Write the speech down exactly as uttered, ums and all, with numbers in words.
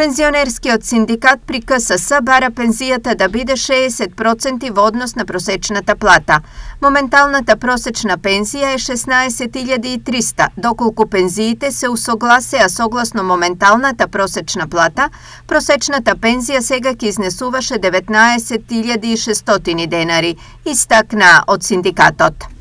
Пензионерскиот синдикат при К С С бара пензијата да биде шеесет проценти во однос на просечната плата. Моменталната просечна пензија е шеснаесет илјади и триста, доколку пензиите се усогласеа согласно моменталната просечна плата, просечната пензија сега ќе изнесуваше деветнаесет илјади и шестстотини денари, истакнаа од синдикатот.